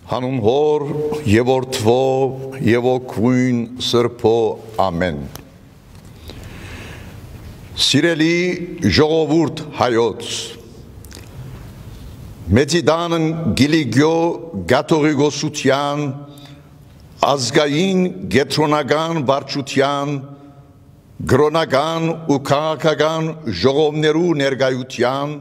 Հանուն Հոր և Որդվո և Օգնույն Սրբո ամեն։ Սիրելի ժողովուրդ հայոց, Մեծիդանն Գիլիգյո Գաթողիկոսության ազգային գետրոնական վարչության գրոնական ու քաղաքական ժողովներու ներկայության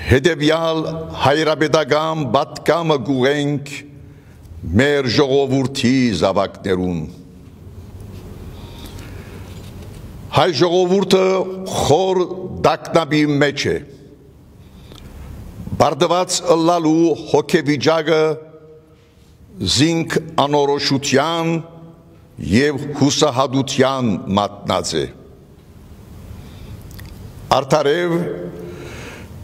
հետևյալ հայրապետական պատգամը գուղենք մեր ժողովրդի զավակներուն։ Հայ ժողովուրդը խոր տագնապի մեջ է, բարդված ըլլալու հոգեվիճակը զինք անորոշության և հուսահատության մատնած է։ Արդարև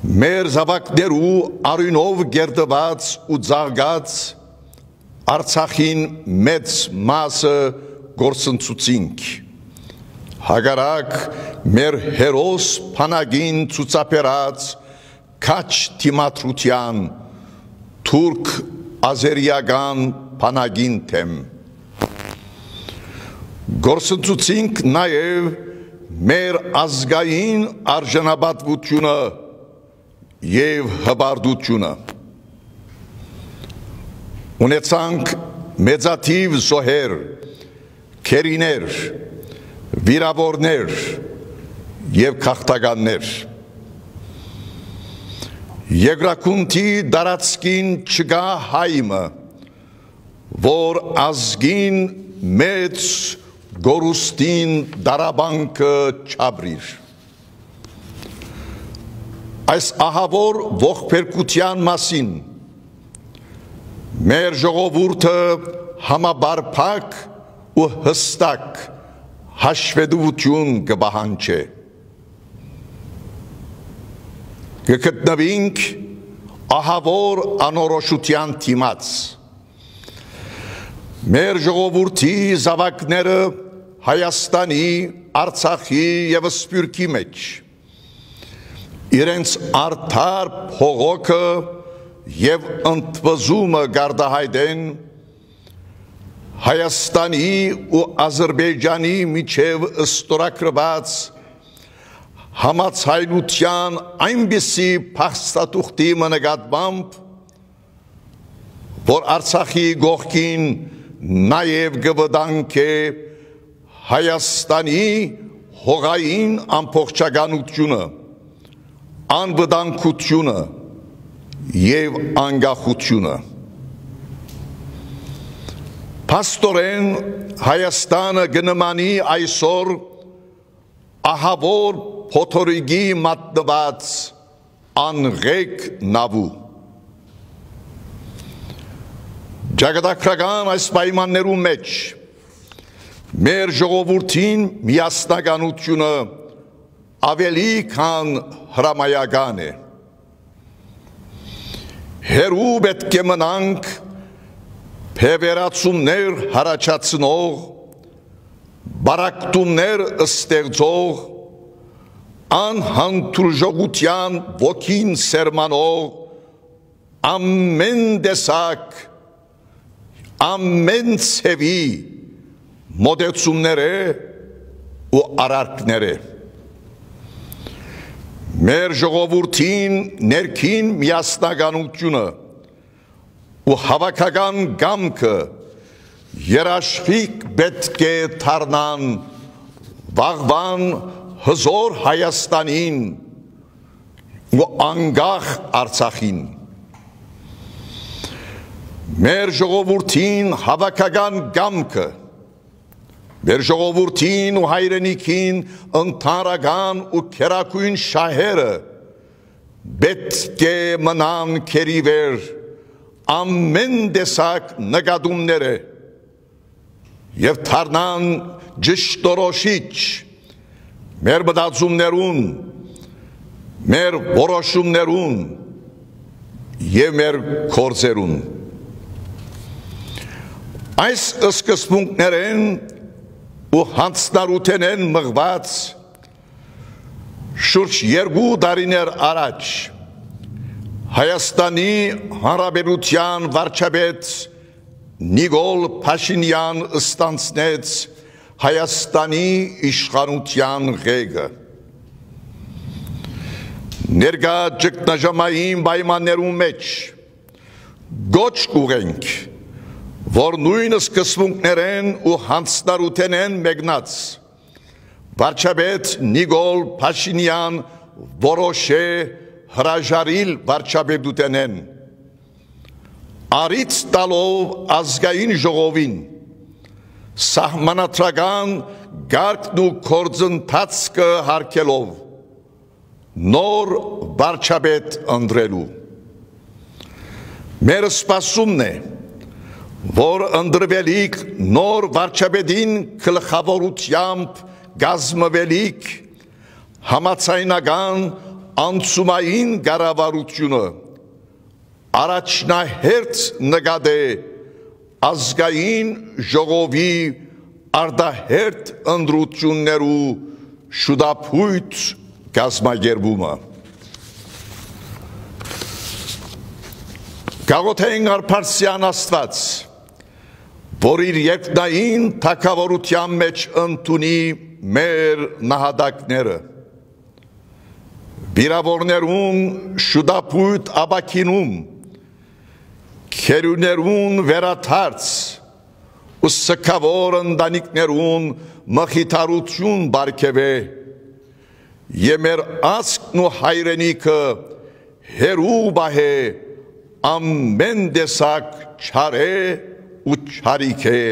մեր զավակներու արյունով գերդված ու ծաղկած Արցախին մեծ մասը գործընծուցինք, հակառակ մեր հերոս փանագին ցուցաբերած քաչ թիմադրության թուրք ազերիական փանագին թեմ։ Գործընծուցինք նաև մեր ազգային արժանապատվությունը և հպարտությունը։ Ունեցանք մեծաթիվ զոհեր, քերիներ, վիրավորներ և քաղաքականներ։ Երկրագնդի տարածքին չկա հայմը, որ ազգին մեծ գորուստին դարաբանքը չաբրիր։ Այս ահավոր ողբերգության մասին մեր ժողովուրդը համապարփակ ու հստակ հաշվետվություն կպահանջի։ Կգտնվենք ահավոր անորոշության դիմաց։ Մեր ժողովրդի զավակները Հայաստանի, Արցախի և Սփյուռքի մեջ իրենց արդար փողոքը և ընդվզումը գարդահայտեն Հայաստանի ու Ադրբեջանի միջև ստորագրված համաձայնության այնպիսի փաստաթուղթի նկատմամբ, որ Արցախի կողքին նաև կվտանգի Հայաստանի հողային ամբողջականությունը, անվտանգությունը և անկախությունը։ Փաստորեն Հայաստանը կնմանի այսօր ահավոր փոթորիկի մատնված անղեկ նավու։ Ճակատագրական այս պայմաններու մեջ մեր ժողովրդին միասնականությունը ավելի քան հրամայական է։ Հերու պետք է մնանք փեվերացումներ հարաճացնող, բարակտումներ ստեղծող, անհանդուրժողության ոգին սերմանող, ամեն տեսակ, ամեն ցևի մոտեցումները ու արարքները։ Մեր ժողովրդին ներքին միասնականությունը ու հավաքական կամքը երաշխիք պետք է դառնան վաղվան հզոր Հայաստանին ու անկախ Արցախին։ Մեր ժողովրդին հավաքական կամքը, մեր ժողովրդին ու հայրենիքին ընդհանրական ու քերակույն շահերը պետք է մնան քերիվեր ամեն տեսակ նկատումները և դառնան ճշտորոշիչ մեր մտածումներուն, մեր որոշումներուն և մեր գործերուն։ Այս սկզբունքներն ու հանցնառութենեն մղված շուրջ 2 տարիներ առաջ Հայաստանի Հանրապետության վարչապետ Նիկոլ Փաշինյան ստանձնեց Հայաստանի իշխանության ղեկը։ Ներկա ճգնաժամային պայմաններում մեջ գոչ կուղենք, որ նույն սկզբունքներեն ու հանձնառութենեն մեկնած վարչապետ Նիկոլ Փաշինյան որոշ է հրաժարիլ վարչապետութենեն, առիթ տալով ազգային ժողովին սահմանադրական գարկն ու գործընթացը հարգելով նոր վարչապետ ընտրելու։ Մեր սպասումն է, որ ընտրվելիք նոր վարչապետին գլխավորությամբ կազմվելիք համաձայնական անցումային կառավարությունը առաջնահերթ նկատե ազգային ժողովի արտահերթ ընտրություններու շուտապույտ կազմակերպումը։ Գաղութային արփարսյան Աստված, որ իր երկնային թագավորության մեջ ընդունի մեր նահատակները, վիրավորներուն շուտապույտ ապաքինում, քերուներուն վերաթարց ու սքավոր ընտանիքներուն մխիթարություն բարգեւե եւ մեր ազգն ու հայրենիքը հերու բահե ամեն տեսակ չարե ու չարիք է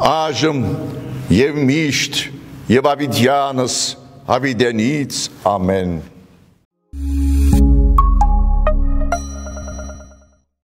այժմ եւ միշտ եւ ավիդյանս ավիդենից ամեն